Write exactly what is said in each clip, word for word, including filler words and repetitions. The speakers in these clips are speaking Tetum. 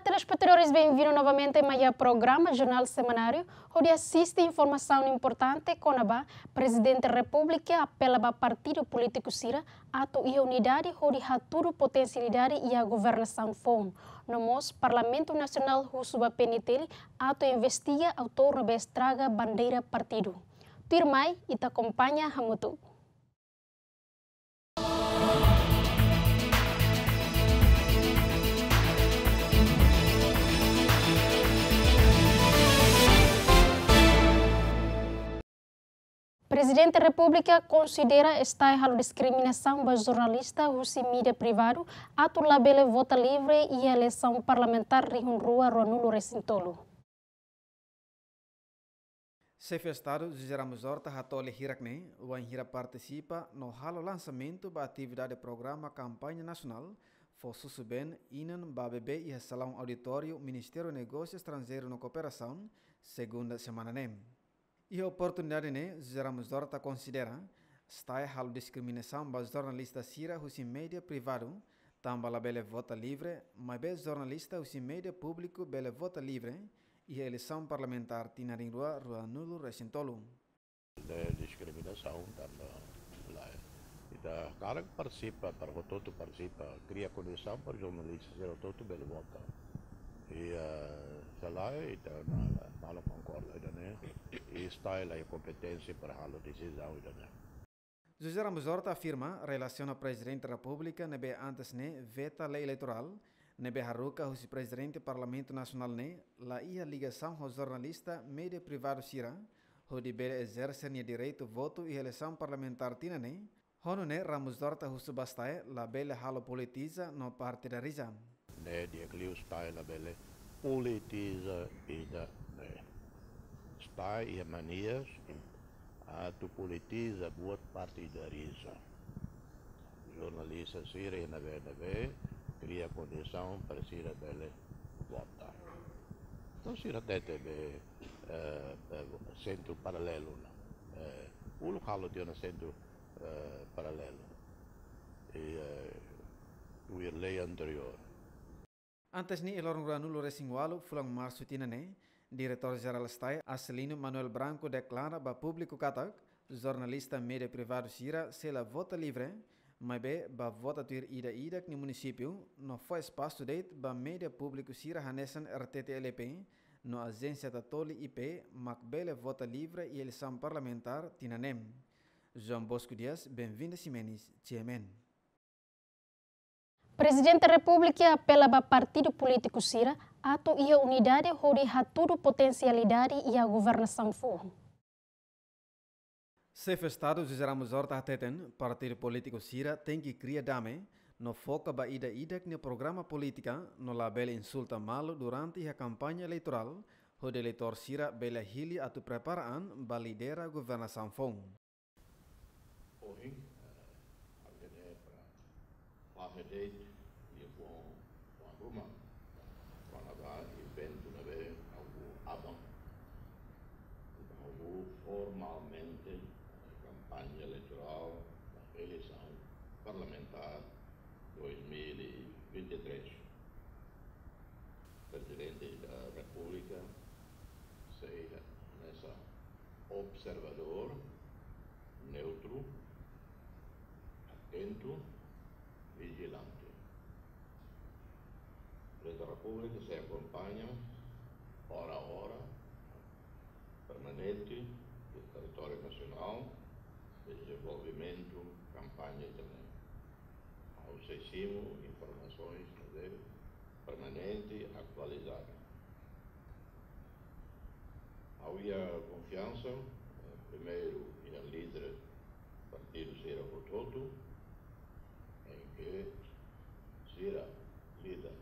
Telespetadores, benvindu novamente mai iha programa Jornál Semanáriu, hodi asiste informasaun importante kona-ba Prezidente Repúblika apela ba partidu polítiku sira atu iha unidade hodi hatudu potensialidade iha governasaun foun. No mós Parlamentu Nasionál husu ba P N T L atu investiga autór ne'ebé estraga bandeira partidu. Tuirmai, ita akompaña hamutuk. Prezidente Repúblika konsidera STAE halo diskriminasaun ba jornalista husi mídia privadu atu labele vota livre iha eleisaun parlamentár rihun rua ruanulu resin tolu. Xefe Estadu José Ramos Horta hatoli hirak-ne'e, wainhira partisipa no halo lansamentu ba atividade programa kampaña nasionál fó susubeen inan ba bebé iha salaun auditóriu Ministériu Negósiu Estranjeiru no Kooperasaun, segunda semana ne'e. Iha oportunidade ne'e, José Ramos Horta konsidera STAE halo diskriminasaun ba jornalista sira husi mídia privadu, tanba labele vota livre, maibé jornalista husi mídia públiku bele vota livre iha eleisaun parlamentár tinan rihun rua ruanulu resin tolu. Ne'e diskriminasaun tanba lae. Ita hakarak partisipa, para hotu-hotu partisipa, kria kondisaun para jornalista sira hotu-hotu bele vota. I, eh, se lae, ita la, la, la konkorda ida-ne'e. I STAE la iha kompeténsia para halo desizaun ida-ne'e. José Ramos Horta afirma, relasiona Prezidente Repúblika ne'ebé antes ne'e veta lei eleitorál, ne'ebé haruka husi Prezidente Parlamentu Nasionál ne'e la iha ligasaun ho jornalista mídia privadu sira, hodi bele ezerse nia direitu votu iha eleisaun parlamentár tinan ne'e. Ho nune'e, Ramos Horta husu ba STAE labele halo politiza no partidariza. Ne'e di'ak liu STAE labele politiza ida-ne'e. STAE iha mania atu politiza buat partidariza. Jornalista sira iha ne'ebé-ne'ebé, kria kondisaun para sira bele vota. Entaun sira hatete be, eh, eh, sentru paralelu ona. Eh, uluk halo tiha ona sentru, eh, paralelu. I, eh, tuir lei anteriór. Antes ne'e, iha loron ruanulu resin ualu fulan Marsu tinan ne'e, Diretór Jerál STAE, Acelino Manuel Branco, deklara ba públiku katak jornalista mídia privadu sira sei la vota livre, maibé bá vota tuir ida-idak nia munisípiu, no fó espasu de'it ba mídia públiku sira hanesan R T T L P no Agência Tatoli I P mak bele vota livre iha eleisaun parlamentár tinan ne'e. João Bosco Dias, Benvinda Ximenes, G M N. Prezidente Repúblika apela ba partidu polítiku sira atu iha unidade hodi hatudu potensialidade iha governasaun foun. Xefe Estadu José Ramos Horta hateten, partidu polítiku sira tenke kria dame, no foka ba ida-idak nia programa polítika, no labele insulta malu durante iha kampaña eleitorál, hodi eleitór sira bele hili atu prepara an ba lidera governasaun foun. Ohin, eh, ha'u hanoin para fahe de'it nia fuan, fuan ruma. Kona-ba eventu ne'ebé ha'u aban. Ha'u formalmente, eh, kampaña eleitorál ba eleisaun parlamentár dois mil e vinte e três. Prezidente da Repúblika sei hanesan observadór, neutru, atentu, vijilante. Prezidente da Repúblika sei akompaña ora a ora, permanente, do territóriu nasionál, dezenvolvimentu, kampaña também. Ha'u sei simu informasoens ne'ebé permanente, atualizadu. Ha'u iha konfiansa, eh, primeiru, iha líder partidu sira hotu-hotu, em que sira líder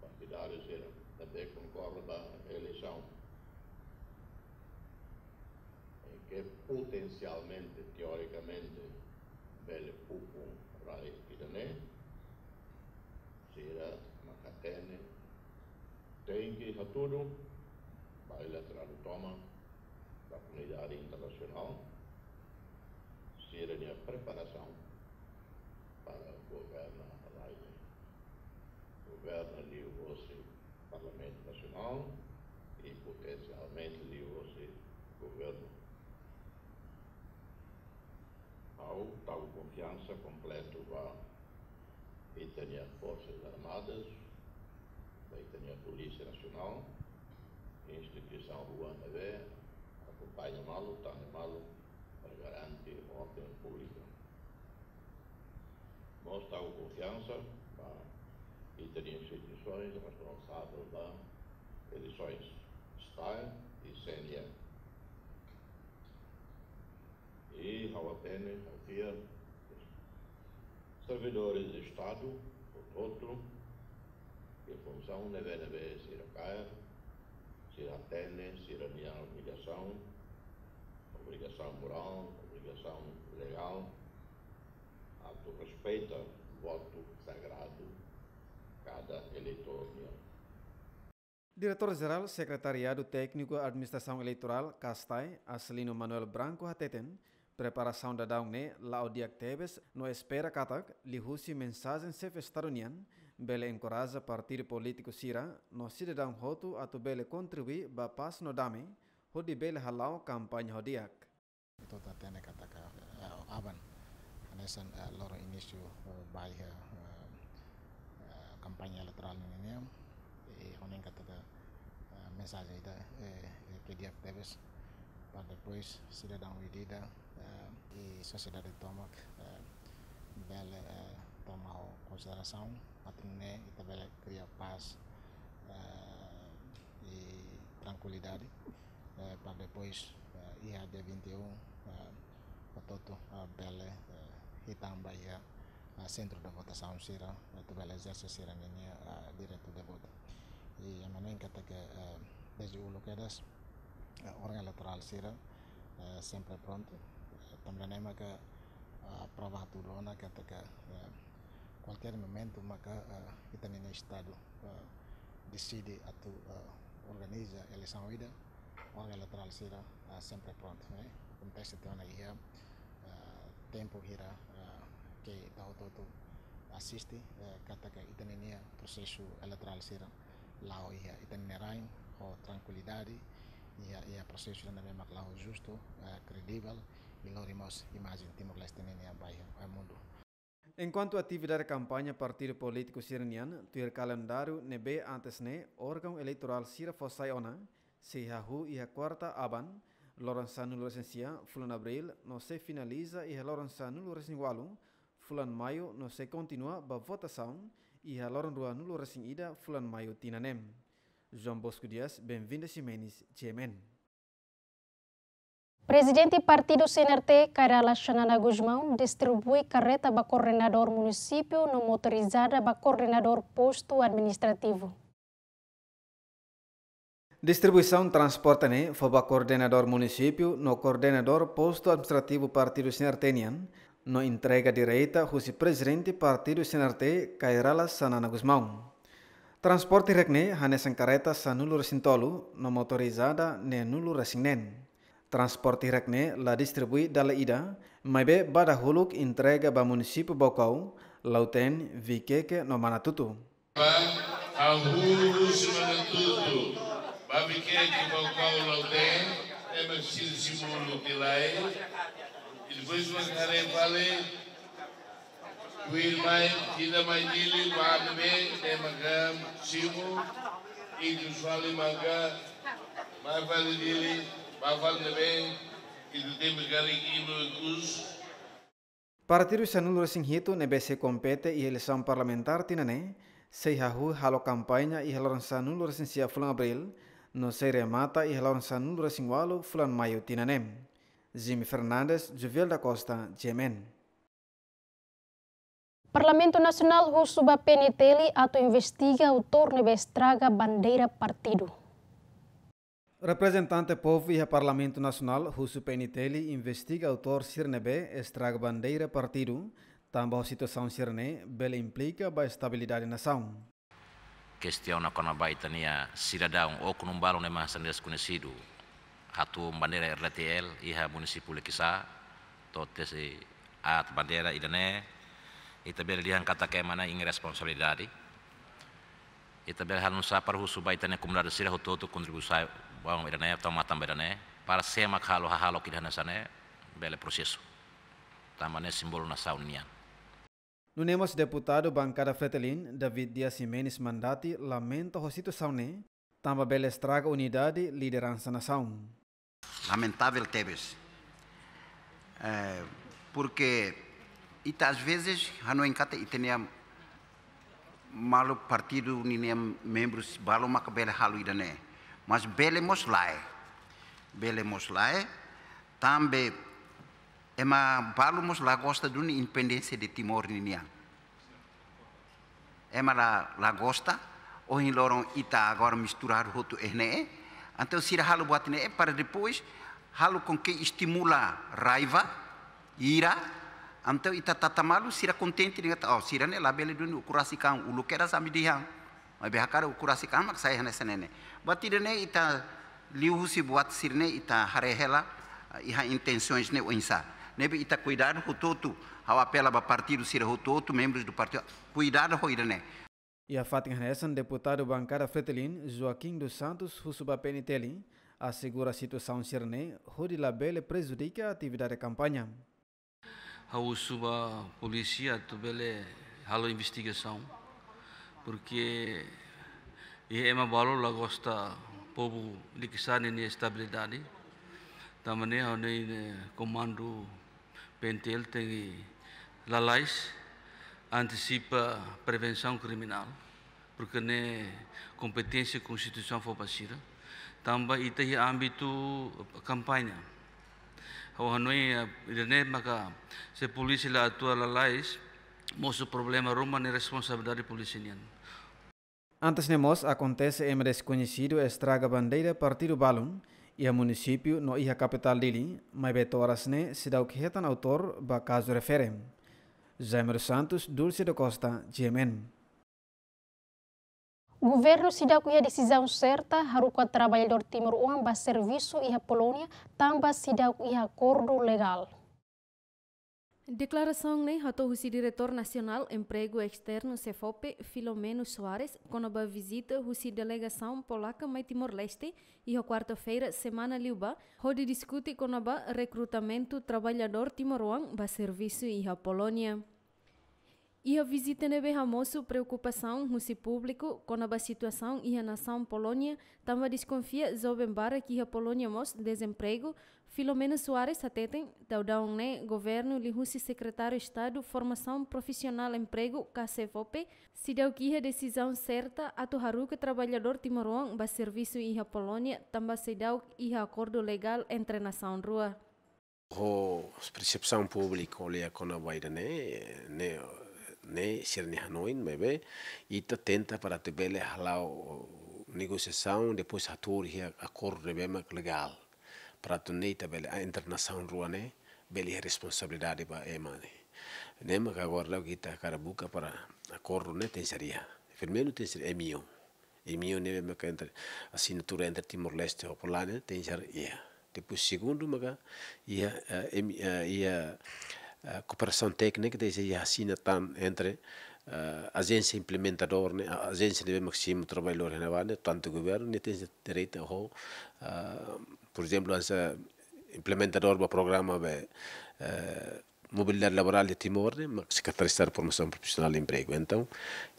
partidáriu sira ne'ebé konkorre ba eleisaun, em que potensialmente, teorikamente, bele ukun rai ida-ne'e, sira mak hatene, tenke hatudu ba iha estrada tomak, ba komunidade internasionál, sira-nia preparasaun para governa rai ne'e. Governa liuhosi Nasionál i potensialmente liuhosi governu. Ha'u tau konfiansa kompletu ba ita-nia Forsas Armadas, ba ita-nia Polísia Nasionál, instituisaun rua ne'ebé akompaña malu, tane malu, para garante orden públika. Mós tau konfiansa ba ita-nia instituisoens responsavel ba eleisoens, STAE i C N E. I ha'u hatene, ha'u fiar, servidores de Estadu, portantu, ke funsaun ne'ebé-ne'ebé sira kaer, sira hatene sira-nia obrigasaun, obrigasaun morál, obrigasaun legál, atu respeita votu sagradu kada eleitór nian. Diretór Jerál Sekretariadu Tékniku Administrasaun Eleitorál, CASTAE, Acelino Manuel Branco hateten, preparasaun daudaun ne'e la'o di'ak tebes no espera katak, liuhusi mensajen Xefe Estadu nian, bele enkoraja partidu polítiku sira no sidadaun hotu atu bele kontribui ba pás no dame, hodi bele hala'o kampaña ho di'ak. Ita hatene katak, eh, aban, hanesan, eh, loron inísiu, eh, ba iha, eh, eh, kampaña eleitorál ninian, i ha'u hanoin katak, eh, mensajen ida, eh, eh, ke di'ak tebes, para depois sidadaun ida-idak, eh, i sosiedade tomak, eh, bele, eh, toma ho konsiderasaun, atu nune'e ita bele kria pás, eh, i trankuilidade, eh, para depois, eh, iha dia vinte e um, eh, hotu-hotu, eh, bele, eh, hitan ba iha, eh, sentru de votasaun sira, eh, atu bele ezerse sira-ninia, eh, direitu de votu. I ha'u hanoin katak, eh, dezde uluk kedas, eh, órgaun eleitorál sira, eh, sempre prontu. Eh, tanba ne'e maka, eh, prova hatudu ona katak, eh, kualkér momentu maka, eh, ita-nia Estadu, eh, deside atu, eh, organiza eleisaun ida, órgaun eleitorál sira, eh, sempre prontu, eh. Akontese tiha ona iha, eh, tempu hira, eh, ke ita hotu-hotu asiste, eh, katak ita-nia prosesu eleitorál sira la'o iha ita-nia rain ho trankuilidade, iha, iha prosesu ida ne'ebé mak la'o justu, eh, kredivel, i lori mós imajen Timor-Leste nian ba iha, eh, mundu. Enkuantu atividade kampaña partidu polítiku sira-nian tuir kalendáriu ne'ebé antes ne'e órgaun eleitorál sira fó sai ona, sei hahú iha kuarta aban, loron sanulu-resin-sia, fulan Abríl, no sei finaliza iha loron sanulu-resin-ualu, fulan Maiu, no sei kontinua ba votasaun iha loron ruanulu-resin-ida, fulan Maiu tinan ne'e. João Bosco Dias, Benvinda Ximenes, G M N. Prezidente Partidu C N R T, Kay Rala Xanana Gusmão, distribui kareta ba koordenadór munisípiu no motorizada ba koordenadór postu administrativu. Distribuisaun transporte ne'e fó ba koordenadór munisípiu no koordenadór postu administrativu Partidu C N R T nian, no entrega direta husi Prezidente Partidu C N R T, Kay Rala Xanana Gusmão. Transporte hirak ne'e hanesan kareta sanulu-resin-tolu no motorizada neenulu-resin-neen. Transporte hirak ne'e la distribui dala ida, maibé ba dahuluk entrega ba munisípiu Baucau, Lautém, Viqueque no Manatuto. Ba, hahú husi Manatuto ba Viqueque, Baucau, Lautém, ema sira simu uluk lai. I depois mak haree fali, tuirmai, ida mai Dili, ba ne'ebé, ema ka simu, i depois fali maka, ba fali Dili, ba fali ne'ebé, i tu tempu kali ino kus. Partidu sanulu-resin-hitu ne'ebé sei kompete iha eleisaun parlamentár tinan ne'e, sei hahú halo kampaña iha loron sanulu-resin-sia fulan Abríl, no sei remata iha loron sanulu-resin-ualu fulan Maiu tinan ne'e. Jimmy Fernandes, Juviel da Costa, G M N. Parlamentu Nasionál husu ba P N T L atu investiga autór ne'ebé estraga bandeira partidu. Reprezentante povu iha Parlamentu Nasionál husu P N T L investiga autór sira ne'ebé estraga bandeira partidu, tanba situasaun sira-ne'e bele implika ba estabilidade nasaun. Kestiona kona-ba ita-nia sidadaun oknum balun ne'e mak hanesan deskoñesidu hatún bandeira R D T L iha munisípiu Liquiçá, to'o tesi aat bandeira ida-ne'e, ita bele dehan katak ema ne'e iha responsabilidade. Ita bele halo nu'usá para husu ba ita-nia komunidade sira hotu-hotu kontribui ba ida-ne'e, tau matan ba ida-ne'e, para sé mak halo hahalok ida hanesan ne'e, bele prosesu. Tanba ne'e símbolu nasaun nian. Nune'e mós deputadu bankada Fretilin, David Dias Ximenes Mandati, lamenta ho situasaun ne'e, tanba bele estraga unidade lideransa nasaun. Lamentável tebes. Eh, porque ita às vezes hanoin katak ita-nia maluk partidu ninia membrus balu maka bele halo ida-ne'e. Mas bele mós lae. Bele mós lae. Tanba ema balu mós la gosta duni independénsia de Timor ninian. Ema la, la gosta, ohin loron ita agora misturadu hotu iha ne'e. Entaun sira halo buat ne'e para depois halo com que estimula raiva, ira. Entaun ita tata malu, sira kontente dehan, oh, sira ne'e labele duni ukun rasik an, uluk kedas ami dehan. Maibé hakarak ukun rasik an mak sai hanesan ne'e. Buat ida-ne'e ita liuhusi buat sira-ne'e ita haree hela, eh, iha intensaun ne'e oinsá. Ne'ebé ita kuidadu hotu-hotu, ha'u apela ba partidu sira hotu-hotu, membrus do partidu, kuidadu ho ida-ne'e. Iha fatin hanesan deputadu bankada Fretilin, Joaquim dos Santos, husu ba P N T L, asegura situasaun sira-ne'e, hodi labele prejudika atividade kampaña. Ha'u husu ba polísia atu bele halo investigasaun, porque iha ema balu la gosta povu likisar ninia estabilidade. Tanba ne'e ha'u hanoin komandu P N T L tenke lalais, antisipa, prevensaun kriminál, porque ne'e kompeténsia konstituisaun fó ba sira. Tanba ita iha ámbitu kampaña. Ha'u hanoin, eh, ida-ne'e maka se polísia la atua lalais, mosu problema ruma ne'e responsabilidade polísia nian. Antes ne'e mós akontese ema deskoñesidu estraga bandeira partidu balun iha munisípiu no iha kapitál Dili, maibé to'o oras ne'e seidauk hetan autór ba kazu refere. Jaime dos Santos, Dulce da Costa, G M N. Governu seidauk iha desizaun serta haruka traballadór timoroan ba servisu iha Polónia, tanba seidauk iha akordu legál. Deklarasaun ne'e hato'o husi Diretór Nasionál Empregu Esternu, SEFOPE, Filomeno Soares, kona-ba vizita husi delegasaun polaka mai Timor-Leste iha kuarta-feira semana liubá, hodi diskute kona-ba rekrutamentu traballadór timoroan ba servisu iha Polónia. Iha vizita ne'ebé hamosu preokupasaun husi públiku kona-ba situasaun iha nasaun Polónia, tanba deskonfia joven barak iha Polónia mós dezempregu, Filomeno Soares hateten, daudaun ne'e governu liuhusi Sekretáriu Estadu Formasaun Profisionál Empregu, ka SEFOPE, seidauk iha desizaun serta atu haruka traballadór timoroan ba servisu iha Polónia, tanba seidauk iha akordu legál entre nasaun rua. Ho persepsaun públiku ko'alia kona-ba ida-ne'e, ne'e, ne'e sira-nia hanoin, maibé ita tenta para atu bele hala'o negosiasaun, depois hatuur iha akordu ne'ebé mak legál. Para atu ne'e ita bele, ah, entre nasaun rua ne'e, bele iha responsabilidade ba ema ne'e. Ne'e maka agora daudaun ita hakarak buka para akordu ne'e tenke ser iha. Primeiru tenke ser M O U. M O U ne'ebé maka entre, asinatura entre Timor-Leste ho Polónia, tenke ser iha. Depois segundu maka iha, eh, M-, eh, iha, eh, kooperasaun téknika tenke ser iha asina tan entre, eh, ajénsia implementadór ne'e, a-, ajénsia ne'ebé mak simu traballadór iha ne'ebá ne'e, tantu governu, ne'e tenke ser direta ho, eh, por ezemplu, hanesan implementadór ba programa be, eh, mobilidade laborál de Timor ne'e, mak Sekretaria Estadu Formasaun Profisionál i Empregu. Entaun,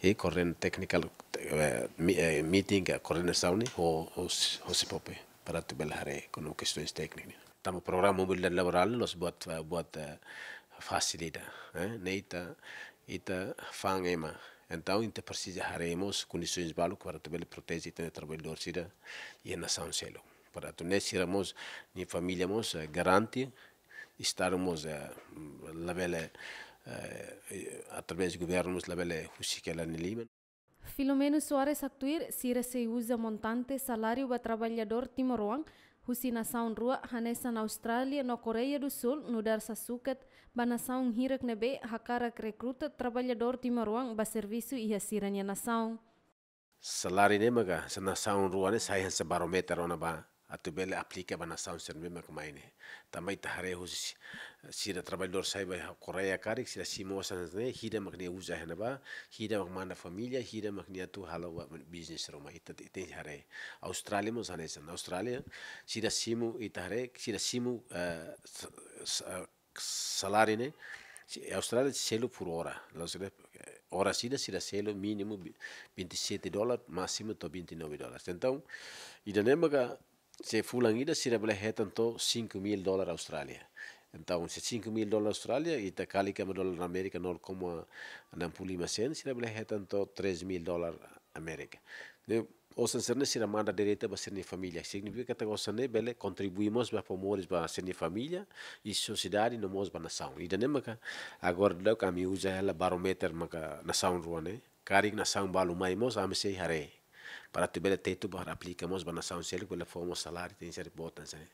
i koorden-, technical, eh, mi-, eh, meeting ka koordenasaun ne'e ho, ho, ho SEFOPE para atu bele haree kona-ba kestaun téknika ne'e. Tanba programa mobilidade laborál ne'e la'ós buat, eh, buat, eh, fasil ida, eh. Ne'e ita, ita fa'an ema. Entaun, ita presiza haree mós kondisaun balu para atu bele proteje ita-nia traballadór sira iha nasaun seluk. Para atu nune'e sira mós nia família mós, eh, garante, Estadu mós, eh, labele, eh, através governu mós labele husik hela nia liman. Filomeno Soares haktuir, sira sei uza montante saláriu ba traballadór timoroan husi nasaun rua hanesan Austrália no Koreia do Sul nu'udar sasukat ba nasaun hirak ne'ebé hakarak rekruta traballadór timoroan ba servisu iha sira-nia nasaun. Saláriu ne'e maka, se nasaun rua ne'e sai hanesan barómetru ona ba atu bele aplika ba nasaun sira ne'ebé mak mai ne'e. Tanba ita haree husi sira traballadór sai ba Koreia karik, sira simu osan ne'e, hira mak nia uza iha ne'ebá, hira mak manda família, hira mak nia atu halo ba bisnis ruma, ita te-, tenke haree. Austrália mós hanesan. Austrália, sira simu, ita haree, sira simu, eh, s-, s-, eh, saláriu ne'e, se-, Austrália selu por ora. La'ós ne'e, eh, ora ida sira selu mínimu bi-, vinte e sete dólar, másimu to'o vinte e nove dólar. Entaun, ida-ne'e maka se fulan ida sira bele hetan to'o cinco mil dólar Austrália. Entaun, se cinco mil dólar Austrália, ita kalkula ba dólar Amérika nol koma enam puluh lima sen, sira bele hetan to'o três mil dólar Amérika. Ne'e, osan sira-ne'e sira manda direta ba sira-nia família. Signifika katak osan ne'e bele kontribui mós ba fó moris ba sira-nia família, i sosiedade no mós ba nasaun. Ida-ne'e maka agora daudaun ami uza hela barómetru maka nasaun rua ne'e. Karik nasaun balu mai mós ami sei haree. Para atu bele tetu ba aplika mós ba nasaun seluk bele fó mós saláriu tenke ser boot hanesan ne'e.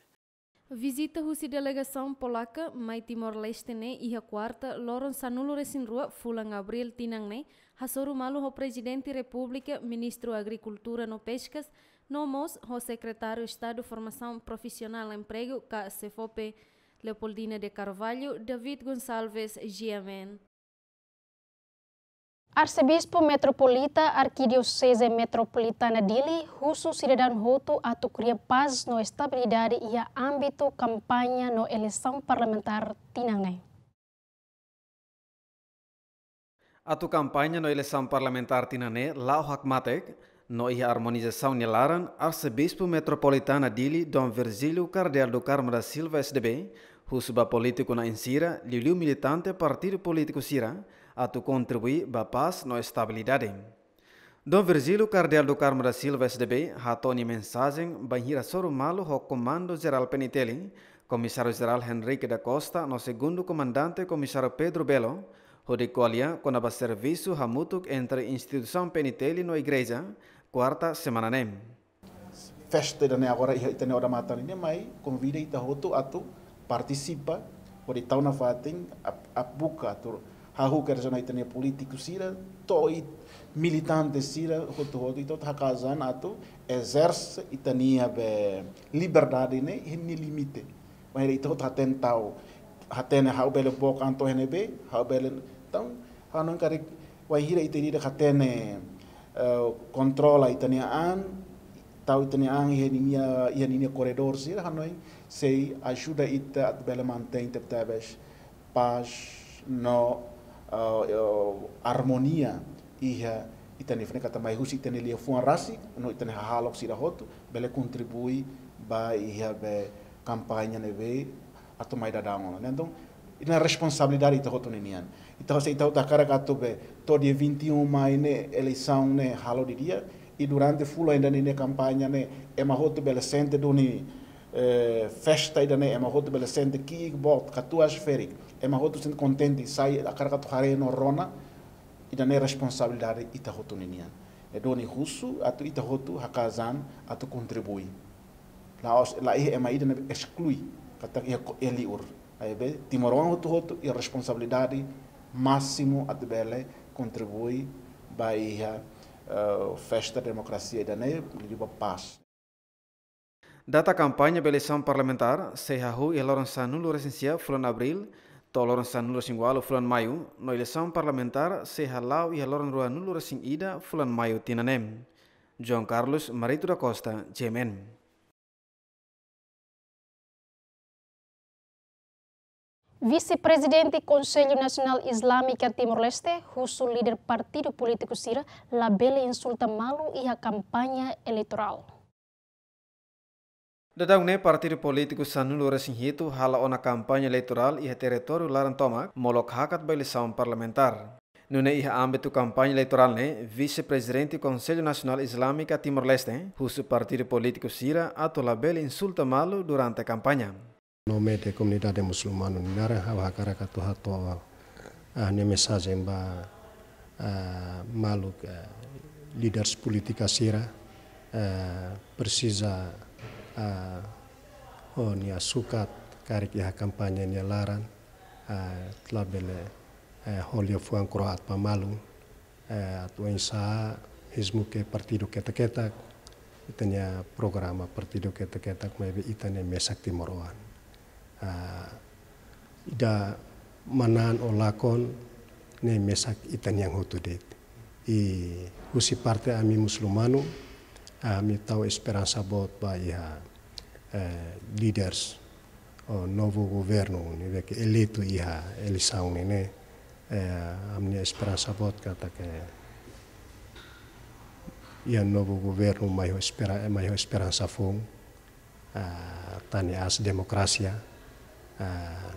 Vizita husi delegasaun polaka mai Timor-Leste ne'e iha kuarta, loron sanulu-resin-rua fulan Abríl tinan ne'e, hasoru malu ho Prezidente Repúblika, Ministru Agrikultura no Peskas, no mós ho Sekretáriu Estadu Formasaun Profisionál Empregu ka SEFOPE, Leopoldina de Carvalho, David Gonçalves, G M N. Arsebispu Metropolita Arkidioseze Metropolitana Dili husu sidadaun hotu atu kria pás no estabilidade iha ámbitu kampaña no eleisaun parlamentár tinan ne'e. Atu kampaña no eleisaun parlamentár tinan ne'e la'o hakmatek, no iha armonizasaun nia laran, Arsebispu Metropolitana Dili Dom Virgílio Kardeál do Carmo da Silva S D B, husu ba polítiku na'in sira, liuliu militante partidu polítiku sira, atu kontribui ba pás no estabilidade. Dom Virgílio Kardeál do Carmo da Silva S D B, hato'o nia mensajen bainhira hasoru malu ho Komandu Jerál P N T L, Komisáriu Jerál Henrique da Costa, no Segundu Komandante Komisáriu Pedro Belo, hodi ko'alia kona-ba servisu hamutuk entre instituisaun P N T L no igreja, kuarta semana ne'e. Festa ida-ne'e agora iha ita-nia odamatan ne'e mai konvida ita hotu atu partisipa, hodi tau nafatin, ap-, ap-, buka atu hahú kedas ona ita-nia polítiku sira, to'o ita-nia militante sira, hotu-hotu ita hotu haka'as an atu ezerse ita-nia be liberdade ne'e iha nia limite. Bainhira ita hotu hatene tau, hatene ha'u bele book an to'o iha ne'ebé, ha'u bele, entaun, ha'u hanoin karik, bainhira ita ida hatene, eh, kontrola ita-nia an, tau ita-nia an iha ninia, iha ninia koredór sira, ha'u hanoin sei ajuda ita atu bele mantein tebetebes pás no, eh, eh, armonia iha ita-nia, fene kata mai husi ita-nia liafuan rasik, no ita-nia hahalok sira hotu, bele kontribui ba iha be kampaña ne'ebé atu mai daudaun ona. Entaun, ida-ne'e responsabilidade ita hotu ninian. Ita hotu, ita hotu hakarak atu be, to'o dia vinte e um mai ne'e eleisaun ne'e halo didi'ak, i durante fulan ida-ne'e nia kampaña ne'e, ema hotu bele sente duni, eh, festa ida-ne'e, ema hotu bele sente ki'ik boot, katuas ferik, ema hotu sente kontente, sai hakarak atu haree no rona, ida-ne'e responsabilidade ita hotu ninian. I duni husu atu ita hotu haka'as an atu kontribui. La'ós, la iha ema ida ne'ebé esklui, katak iha ko-, iha liur. Maibé, timoroan hotu-hotu iha responsabilidade másimu atu bele kontribui ba iha, eh, festa demokrasia ida-ne'e, liuliu ba pás. Data kampaña ba eleisaun parlamentár sei hahú iha loron sanulu-resin-sia fulan Abríl, to'o loron sanulu-resin-ualu fulan Maiu, no eleisaun parlamentár sei hala'o iha loron ruanulu-resin-ida fulan Maiu tinan ne'e. João Carlos Marito da Costa, G M N. Vise-Prezidente Konsellu Nasionál Islâmika Timor-Leste husu líder partidu polítiku sira labele insulta malu iha kampaña eleitorál. Daudaun ne'e partidu polítiku sanulu-resin-hitu hala'o ona kampaña eleitorál iha territóriu laran tomak, molok hakat ba eleisaun parlamentár. Nune'e iha ámbitu kampaña eleitorál ne'e, Vise-Prezidente Konsellu Nasionál Islâmika Timor-Leste husu partidu polítiku sira atu labele insulta malu durante kampaña. No média komunidade musulmanu nia laran, ha'u hakarak atu hato'o, ah, nia mensajen ba, ah, maluk, ah, líderes polítika sira, ah, presiza, ah, ho nia sukat karik iha kampaña nia laran, ah, labele, eh, ho liafuan kro'at ba malu, eh, atu oinsá, mezmu ke partidu ketak-ketak, Ita-nia programa partidu ketak-ketak maibé ita ne'e mesak timoroan. Ah, ida manán ou lakon ne'e mesak ita-nian hotu de'it. I husi parte ami musulmanu, ami tau esperansa boot ba iha, eh, líderes ou novu governu ne'ebé ke eleitu iha eleisaun ne'e, eh, ami-nia esperansa boot katak iha novu governu mai ho espera-, mai ho esperansa foun, ah, tane aas demokrasia, ah,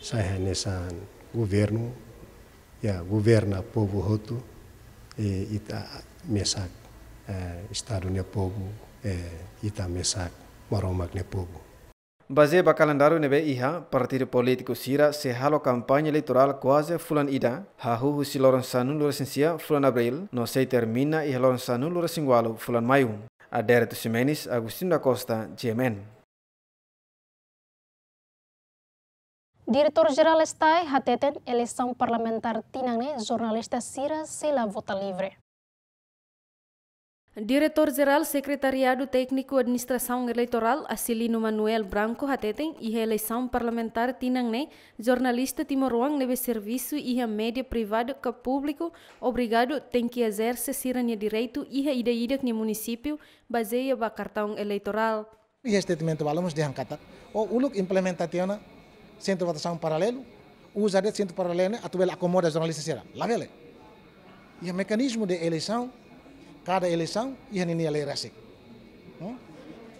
sai hanesan governu, ya, governa povu hotu, i ita mesak, eh, Estadu nia povu, eh, ita mesak Maromak nia povu. Bazeia ba kalendáriu ne'ebé iha, partidu polítiku sira sei halo kampaña eleitorál kuaze fulan ida, hahú husi loron sanulu-resin-sia fulan Abríl, no sei termina iha loron sanulu-resin-ualu fulan Maiu. Adérito Ximenes, Agostinho da Costa, G M N. Diretór Jerál STAE hateten eleisaun parlamentár tinan ne'e jornalista sira sei la vota livre. Diretór Jerál Sekretariadu Tékniku Administrasaun Eleitorál, Acilino Manuel Branco hateten, iha eleisaun parlamentár tinan ne'e, jornalista timoroan ne'ebé servisu iha média privadu ka públiku obrigadu tenke ezerse sira-nia direitu iha ida-idak nia munisípiu, bazeia ba kartaun eleitorál. Iha statement balu mós dehan katak, o uluk implementa tiha ona sentru votasaun paralelu, uza de'it sentru paralelu ne'e atu bele akomoda jornalista sira. Labele. Iha mekanizmu de eleisaun, kada eleisaun iha ninia lei rasik. Hmm?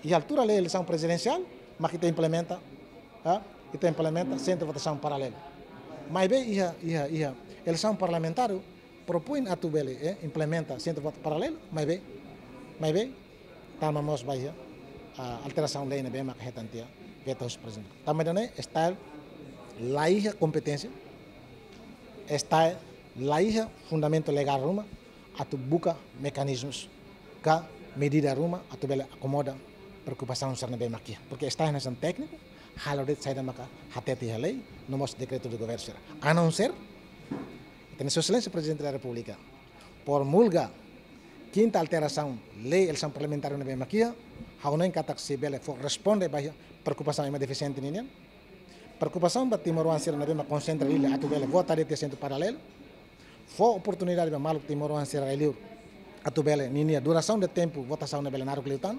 Iha altura lei eleisaun prezidensiál, mak ita implementa, ha? Ita implementa sentru votasaun paralelu. Maibé iha, iha, iha eleisaun parlamentár, propoin atu bele, eh, implementa sentru votasaun paralelu, maibé, maibé, tama mós ba iha, ah, alterasaun lei ne'ebé maka hetan tiha, veta husi prezidente. Tanba ida-ne'e, STAE la iha kompeténsia, STAE la iha fundamentu legál ruma, atu buka mekanizmus ka medida ruma, atu bele akomoda preokupasaun sira ne'ebé mak iha. Porke STAE hanesan tékniku, halo de'it saida maka hatete iha lei, no mós dekretu de governu sira. A não ser, ita-nia Sua Exelénsia Prezidente da Repúblika promulga kinta alterasaun lei eleisaun parlamentár ne'ebé mak iha, ha'u hanoin katak sei bele fó responde ba iha preokupasaun ema defisiente ninian. Preokupasaun ba timoroan sira ne'ebé mak konsentra iha atu bele vota de'it iha sentru paralelu. Fó oportunidade ba maluk timoroan sira rai-liur atu bele ninia durasaun de tempu votasaun ne'e bele naruk liután.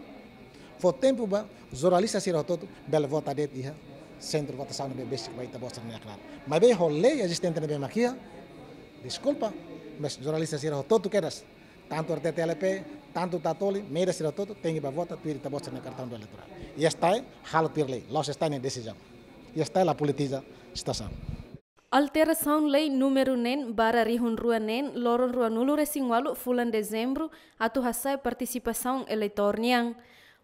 Fó tempu ba jornalista sira hotu-hotu bele vota de'it iha sentru votasaun ne'ebé besik ba ita-boot sira-nia knaar. Maibé ho lei ezistente ne'ebé mak iha, deskulpa, mas jornalista sira hotu-hotu kedas, tantu R T T L P, tantu Tatoli, média sira hotu-hotu, tenke ba vota tuir ita-boot sira-nia kartaun eleitorál. I STAE halo tuir lei, la'ós STAE nia desizaun. I STAE la politiza situasaun. Alterasaun lei númeru neen barra rihun rua neen, loron ruanulu-resin-ualu fulan Dezembru, atu hasa'e partisipasaun eleitór nian.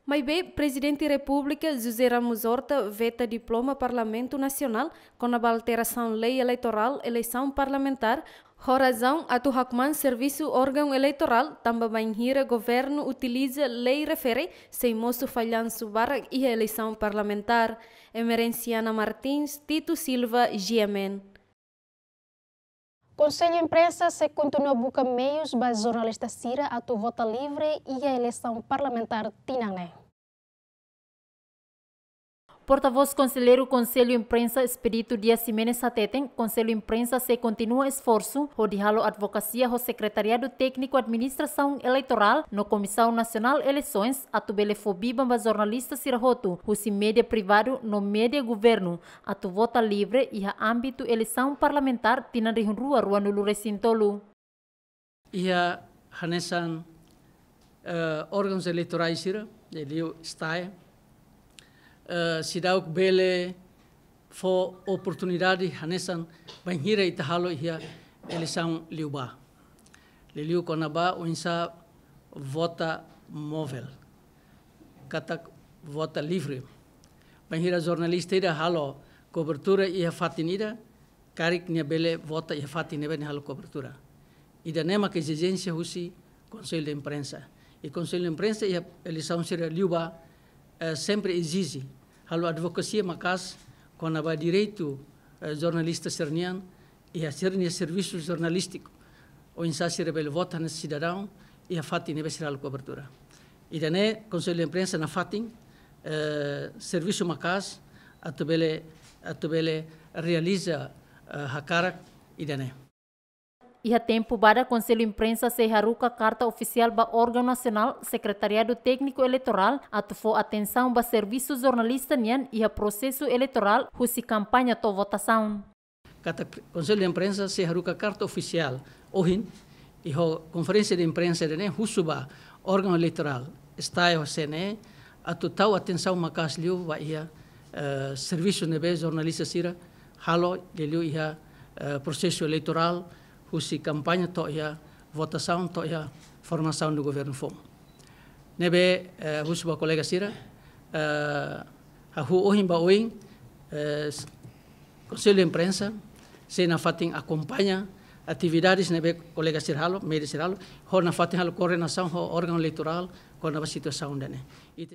Maibé, Prezidente Repúblika José Ramos Horta veta diploma Parlamentu Nasionál kona-ba alterasaun lei eleitorál eleisaun parlamentár, ho razaun atu hakmaan servisu órgaun eleitorál tanba bainhira governu utiliza lei refere sei mosu fallansu barak iha eleisaun parlamentár. Emerenciana Martins, Tito Silva, G M N. Konsellu Imprensa sei kontinua buka meius ba jornalista sira atu vota livre iha eleisaun parlamentár tinan ne'e. Portavós Konselleiru Konsellu Imprensa Expedito Dias Ximenes hateten, Konsellu Imprensa sei kontinua esforsu hodi halo advokasia ho Sekretariadu Tékniku Administrasaun Eleitorál no Komisaun Nasionál Eleisoens atu bele fó biban ba jornalista sira hotu husi média privadu no média governu atu vota livre iha ámbitu eleisaun parlamentár tinan rihun rua ruanulu-resin-tolu. Iha hanesan, eh, órgauns eleitorais sira, liuliu STAE, eh, seidauk bele fó oportunidade hanesan bainhira ita halo iha eleisaun liubá. Liuliu kona-ba oinsá vota móvel, katak vota livre. Bainhira jornalista ida halo kobertura iha fatin ida, karik nia bele vota iha fatin ne'ebé nia halo kobertura. Ida-ne'e maka ezijénsia husi Konsellu de Imprensa. I Konsellu de Imprensa iha eleisaun sira liubá, eh, sempre ezije, halo advokasia maka'as kona-ba direitu, eh, jornalista sira-nian, iha sira-nia servisu jornalístiku, oinsá sira bele vota hanesan sidadaun iha fatin ne'ebé sira halo kobertura. Ida-ne'e Konsellu Imprensa nafatin, eh, servisu maka'as atu bele, atu bele realiza, eh, hakarak ida-ne'e. Iha tempu badak Konsellu Imprensa sei haruka karta ofisiál ba órgaun nasionál Sekretariadu Tékniku Eleitorál atu fó atensaun ba servisu jornalista nian iha prosesu eleitorál husi kampaña to'o votasaun. Katak Konsellu Imprensa sei haruka karta ofisiál ohin, i ho konferénsia de imprensa ida-ne'e husu ba órgaun eleitorál STAE ho CNE atu tau atensaun maka'as liu ba iha, eh, servisu ne'ebé jornalista sira halo liuliu iha, eh, prosesu eleitorál, husi kampaña to'o iha votasaun to'o iha formasaun de governu foun. Ne'ebé, eh, husu ba kolega sira, eh, hahú ohin ba oin, eh, s-, Konsellu Imprensa sei nafatin akompaña atividades ne'ebé kolega sira halo, média sira halo, ho nafatin halo koordenasaun ho órgaun eleitorál kona-ba situasaun ida-ne'e.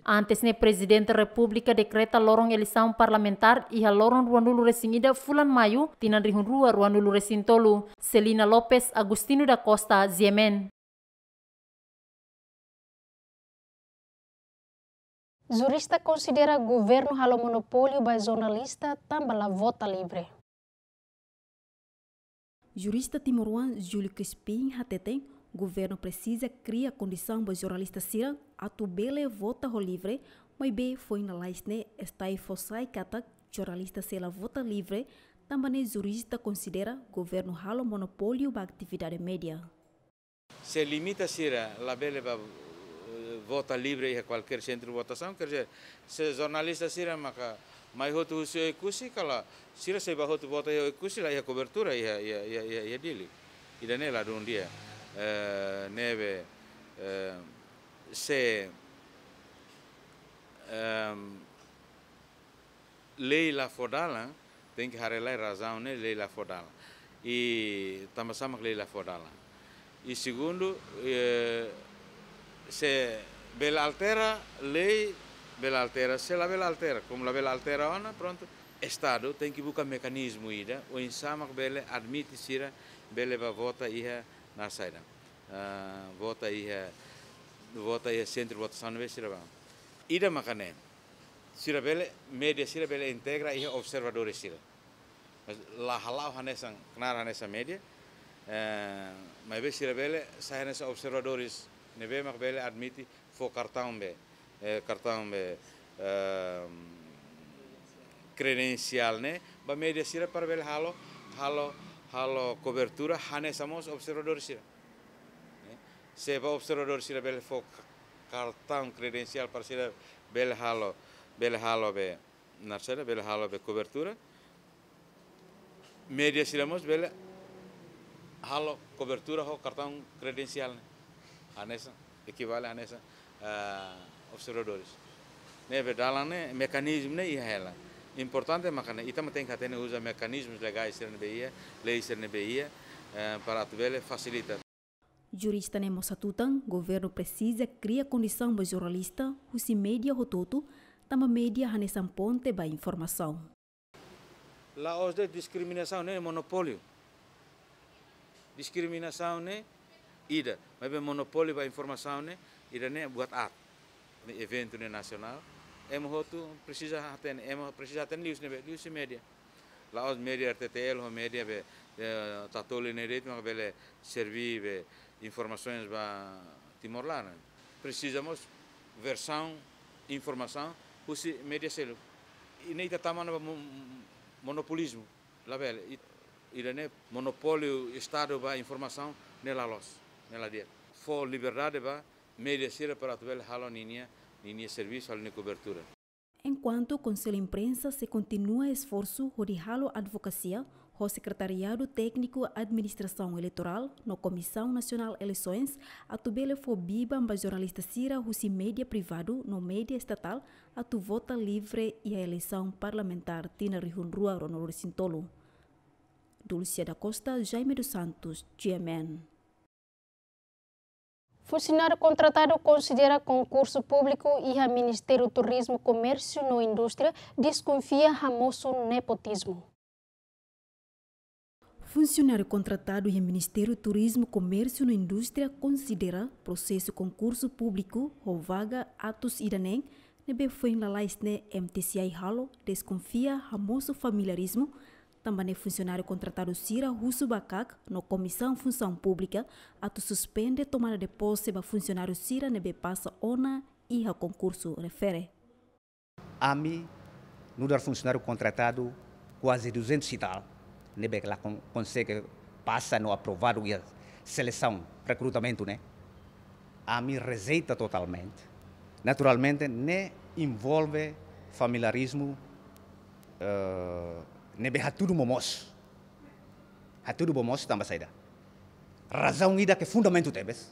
Antes ne'e Prezidente Repúblika dekreta loron eleisaun parlamentár iha loron ruanulu-resin-ida fulan Maiu, tinan rihun rua ruanulu-resin-tolu. Celina Lopes, Agostinho da Costa, G M N. Jurista konsidera governu halo monopóliu ba jornalista tanba la vota livre. Jurista timoroan Júlio Crispim hateten, governu presiza kria kondisaun ba jornalista sira atu bele vota ho livre, maibé foin lalais ne'e STAE fó sai katak jornalista sei la vota livre, tanba ne'e jurista konsidera governu halo monopóliu ba atividade média. Se limita sira labele ba, eh, vota livre iha kualkér sentru votasaun, quer dizer, se jornalista sira maka mai hotu husi Oekusi, kala sira sei ba hotu vota iha Oekusi, la iha kobertura iha, iha, iha, iha, iha Dili. Ida-ne'e ladún di'ak. Eh, ne'ebé, eh, se, ehm, lei la fó dalan, tenke haree lai razaun ne'e lei la fó dalan. I tanba sá mak lei la fó dalan. I segundu, eh, se bele altera lei, bele altera, se labele altera, komu labele altera ona, prontu, Estadu tenke buka mekanizmu ida, oinsá mak bele admite sira bele ba vota iha naran saida. Ah, vota iha, vota iha sentru votasaun ne'ebé sira ba. Ida maka ne'e. Sira bele, média sira bele integra iha observadores sira. Mas la hala'o hanesan, knaar hanesan média. Eh, maibé sira bele sai hanesan observadores ne'ebé mak bele admite fó kartaun be, eh, kartaun be, ehm, kredensiál ne'e ba média sira para bele halo, halo, halo kobertura hanesan mós observadores sira. Eh, se ba observadores sira bele fó ka-, kartaun kredensiál para sira bele halo, bele halo be, naran saida, bele halo be kobertura. Média sira mós bele halo kobertura ho kartaun kredensiál ne'e. Hanesan, ekivale hanesan, ah, observadores. Ne'ebé dalan ne'e, mekanizmu ne'e iha hela. Importante maka ne'e, ita mak tenke hatene uza mekanizmus legais sira ne'ebé iha, lei sira ne'ebé iha, eh, para atu bele fasilita. Jurista ne'e mós hatutan, governu presiza kria kondisaun ba jornalista husi média hotu-hotu, tanba média hanesan ponte ba informasaun. La'ós de'it diskriminasaun ne'e monopóliu. Diskriminasaun ne'e ida, maibé monopóliu ba informasaun ne'e ida-ne'e buat aat. Ne'e eventu ne'e nasionál. Ema hotu presiza hatene, ema presiza hatene liuhusi ne'ebé, liuhusi média. La'ós média R T T L ho média be, eh, Tatoli ne'e de'it mak bele serve be informasaun ba Timor laran. Presiza mós versaun informasaun husi média seluk. I ne'e ita tama ona ba mo-, monopolizmu. Labele, i-, ida-ne'e monopóliu Estadu ba informasaun ne'e la loos, ne'e la di'ak. Fó liberdade ba média sira para atu bele halo ninia, ninia servisu, halo ninia kobertura. Enkuantu Konsellu Imprensa sei kontinua esforsu hodi halo advokasia ho Sekretariadu Tékniku Administrasaun Eleitorál no Komisaun Nasionál Eleisoens atu bele fó biban ba jornalista sira husi média privadu no média estatál atu vota livre iha eleisaun parlamentár tinan rihun rua ruanulu-resin-tolu. Dulcia da Costa, Jaime dos Santos, G M N. Funsionáriu kontratadu konsidera konkursu públiku iha Ministériu Turizmu, Komérsiu no Indústria deskonfia hamosu nepotizmu. Funsionáriu kontratadu iha Ministériu Turizmu, Komérsiu no Indústria konsidera prosesu konkursu públiku ho vaga atus ida neen ne'ebé foin lalais ne'e M T C I halo deskonfia hamosu familiarizmu, tanba ne'e funsionáriu kontratadu sira husu ba KAK no Komisaun Funsaun Públika atu suspende tomada de pose ba funsionáriu sira ne'ebé pasa ona iha konkursu refere. Ami nu'udar funsionáriu kontratadu kuaze duzentos e tal, ne'ebé la kon-, konsege pasa no aprovadu iha selesaun, rekrutamentu ne'e. Ami rejeita totalmente. Naturalmente, ne'e envolve familiarizmu, eh, ne'ebé hatudu momoos. Hatudu momoos tanba saida? Razaun ida ke fundamentu tebes,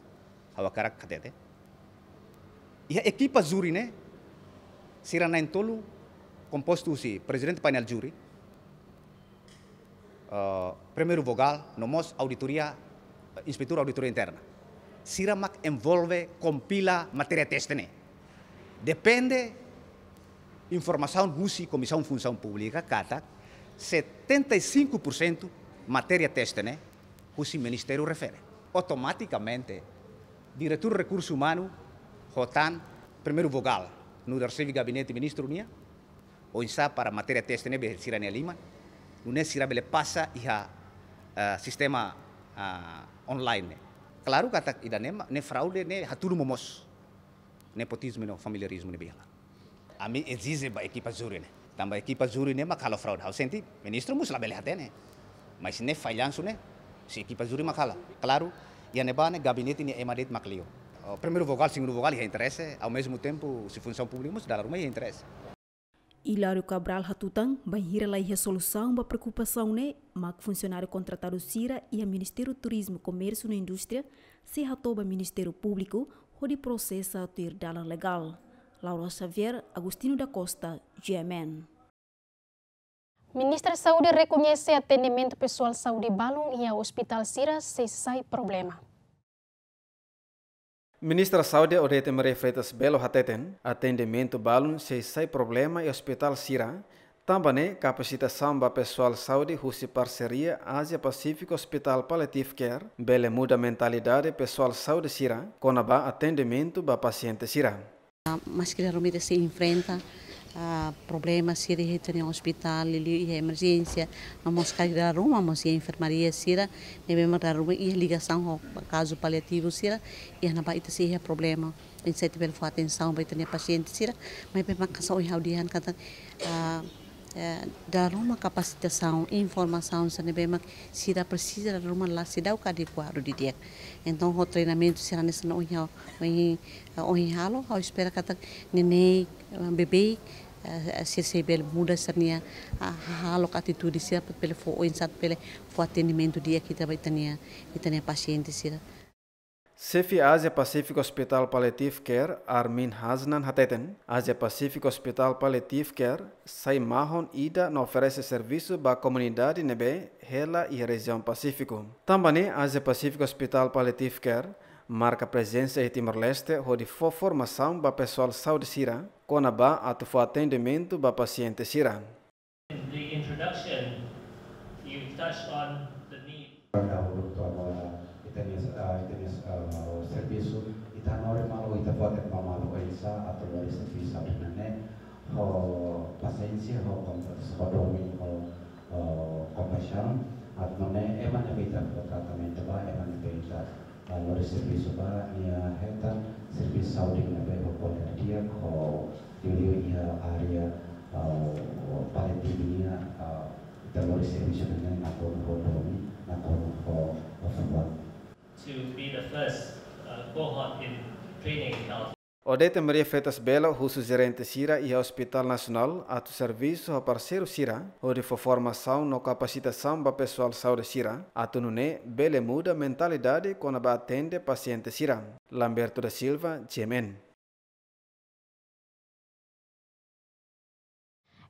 ha'u hakarak hatete. Iha ekipa júri ne'e, sira na'in-tolu kompostu husi prezidente painel júri, eh, primeiru vogál, no mós auditoria, eh, inspetór auditoria interna. Sira mak envolve kompila matéria teste ne'e. Depende informasaun husi Komisaun Funsaun Públika katak setenta e cinco por cento matéria teste ne'e husi ministériu refere. Automatikamente, diretór rekursu umanu ho tan primeiru vogál, nu'udar xefe gabinete ministru nian, oinsá para matéria teste ne'ebé sira-nia liman, nune'e sira bele pasa iha, eh, sistema, ah, online ne'e. Klaru katak ida-ne'e ma-, ne'e fraude, ne'e hatudu momoos. Nepotizmu no familiarizmu ne'ebé iha. Ami ezije ba ekipa júri ne'e. Tanba ekipa júri ne'e mak halo fraude. Ha'u sente ministru mós labele hatene. Mas ne'e fallansu ne'e, husi ekipa júri mak halo. Klaru, iha ne'ebá ne'e gabinete nia ema de'it mak liu. O, primeiru vogál, segundu vogál iha interese, ao mesmo tempo, husi Funsaun Públika mós dala ruma iha interese. Hilário Cabral hatutan, bainhira la iha solusaun ba preokupasaun ne'e, mak funsionáriu kontratadu sira iha Ministériu Turizmu, Komérsiu no Indústria sei hato'o ba Ministériu Públiku hodi prosesa tuir dalan legál. Laura Xavier, Agostinho da Costa, G M N. Ministra Saúde rekoñese atendimentu pesoál saúde balun iha ospitál sira sei sai problema. Ministra Saúde Odete Maria Freitas Belo hateten, atendimentu balun sei sai problema iha ospitál sira, tanba ne'e kapasitasaun ba pesoál saúde husi parseria Ázia Pasífiku Hospital Palliative Care bele muda mentalidade pesoál saúde sira kona-ba atendimentu ba pasiente sira. Maski dala ruma ita sei enfrenta, ah, problema sira iha ita-nia ospitál, liuliu iha emerjénsia, no mós karik dala ruma mós iha enfermaria sira, ne'ebé mak dala ruma iha ligasaun ho kazu paliativu sira, iha ne'ebá ita sei iha problema. Ita sei bele fó atensaun ba ita-nia pasiente sira, maibé mak hanesan ohin ha'u dehan katak, ah, eh, dala ruma kapasitasaun, informasaun sira ne'ebé mak sira presiza dala ruma la seidauk adekuadu didi'ak. Entaun, ho treinamentu sira hanesan ohin ha'u, ohin, eh, ohin halo, ha'u espera katak neineik, eh, beibeik, eh, sira sei bele muda sira-nia, ah, hahalok, atitude sira, para bele fó, oinsá bele fó atendimentu di'ak ita ba ita-nia, ita-nia pasiente sira. Xefe Ázia Pasífiku Hospital Palliative Care, Armin Hasnan hateten, Ázia Pasífiku Hospital Palliative Care sai mahon ida no oferese servisu ba komunidade ne'ebé hela iha rejiaun Pasífiku. Tanba ne'e, Ázia Pasífiku Hospital Palliative Care marka prezensa iha Timor-Leste hodi fó formasaun ba pesoál saúde sira kona-ba atu fó atendimentu ba pasiente sira. In the introduction, you touched on the need. Dahuluk to'o agora, ita-nia, ah, ita-nia, ah, servisu, ita hanorin malu, ita fó atensaun malu, oinsá atu lori servisu ida-ne'e ho pasiénsia, ho kompas-, ho domin, ho, ho kompaixaun, atu nune'e ema ne'ebé ita fó tratamentu ba, ema ne'ebé ita ah, lori servisu ba, nia hetan servisu saúde ne'ebé ho kualidade di'ak, ho liuliu iha área, ah, paliativu nian, ah, ita lori servisu ne'e nakonu ho domin, nakonu ho, ho fuan. To be the first, uh, cohort in training in health. Odete Maria Freitas Belo husu jerente sira iha Hospital Nasionál atu servisu ho parseiru sira, hodi fó formasaun no kapasitasaun ba pesoál saúde sira, atu nune'e bele muda mentalidade kona-ba atende pasiente sira. Lamberto da Silva, G M N.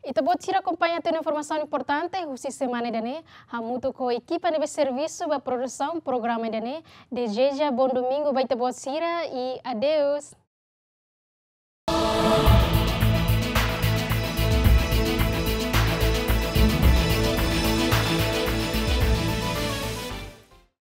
Ita-boot sira akompaña tiha ona informasaun importante husi semana ida-ne'e, hamutuk ho ekipa ne'ebé servisu ba produsaun programa ida-ne'e, dezeja bom domingu ba ita-boot sira i adeus.